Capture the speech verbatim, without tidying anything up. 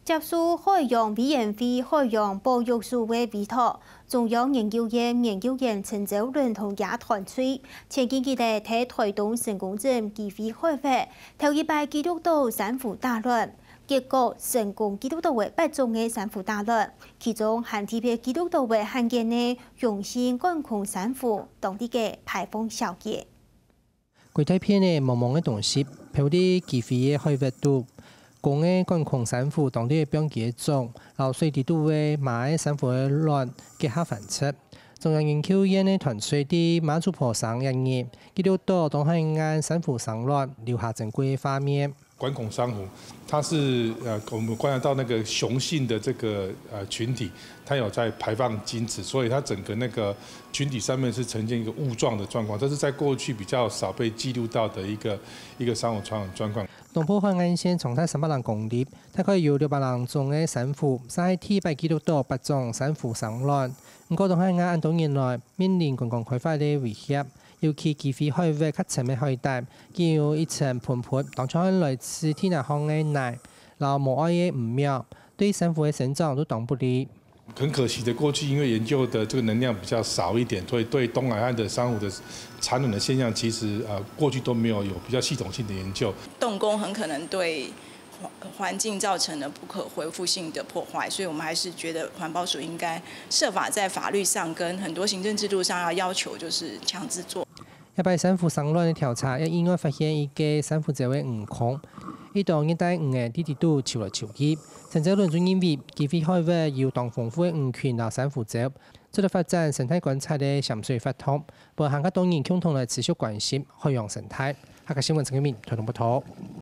接受海洋委員會海洋保育署个委託，中央研究院研究員陳昭倫同佢團隊，前幾日在台東成功鎮基隆海域，頭一擺記錄到珊瑚大卵。結果成功記錄到个八種个珊瑚大卵，其中還特別記錄到个罕見个雄性管孔珊瑚，當地个牌坊小姐。 歸大片个茫茫个東西，漂在基隆个海域肚。公个管孔珊瑚當地个放佢个種，摎水底肚个媽个珊瑚个卵結合繁殖。中央研究院个團隊在媽祖婆生一日，記錄到東海岸珊瑚生卵，留下珍貴个畫面。 管孔珊瑚，它是呃，我们观察到那个雄性的这个呃群体，它有在排放精子，所以它整个那个群体上面是呈现一个雾状的状况，这是在过去比较少被记录到的一个一个珊瑚传染状况。东部海岸线长达三百零公里，大概有六百零种个珊瑚，上海第一擺记錄到八种珊瑚生卵。毋過，東海岸恁多年來面臨觀光開發个威脅， 尤其基隆海域較深个海底，既有一層噴噴，當像係來自地泥項个泥，摎無愛个魚苗，對珊瑚个生長都當不利。很可惜的，过去因为研究的这个能量比较少一点，所以对东海岸的珊瑚的产卵的现象，其实呃过去都没有有比较系统性的研究。动工很可能对环境造成了不可恢复性的破坏，所以我们还是觉得环保署应该设法在法律上跟很多行政制度上要要求，就是强制做。 這擺珊瑚生卵个調查，也意外發現一個珊瑚礁个魚空，一兜熱帶魚仔在底肚泅來泅去。陳昭倫就認為，基隆海域有當豐富个魚群摎珊瑚礁，做得發展生態觀察个潛水活動，分還較多人共同來持續關心海洋生態。客家新聞陳建明，台東報導。